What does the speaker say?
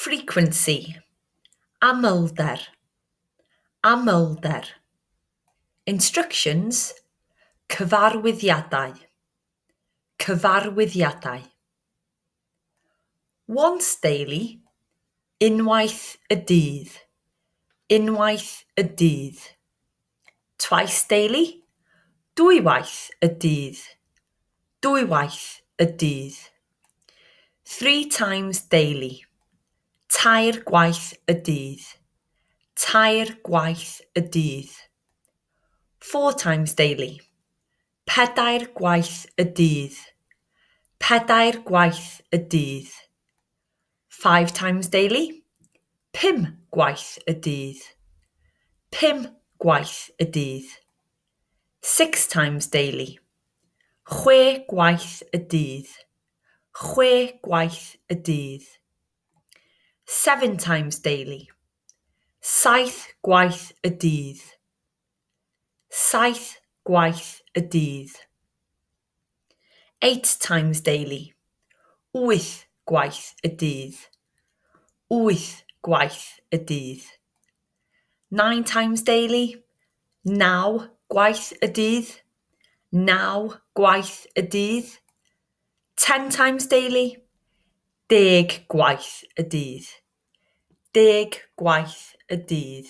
Frequency. Amlder. Amlder. Instructions. Cyfarwyddiadau. Cyfarwyddiadau. Once daily. Unwaith y dydd. Unwaith y dydd. Twice daily. Dwywaith y dydd. Dwywaith y dydd. Three times daily. Tair gwaith y dydd. Tair gwaith y dydd. Four times daily. Pedair gwaith y dydd. Pedair gwaith y dydd. Five times daily. Pum gwaith y dydd. Pum gwaith y dydd. Six times daily. Chwe gwaith y dydd. Chwe gwaith y dydd. Seven times daily. Saith gwaith y dydd. Saith gwaith y dydd. Eight times daily. Wyth gwaith y dydd. Wyth gwaith y dydd. Nine times daily. Naw gwaith y dydd. Naw gwaith y dydd. 10 times daily. 10 gwaith y dydd. 10 gwaith y dydd.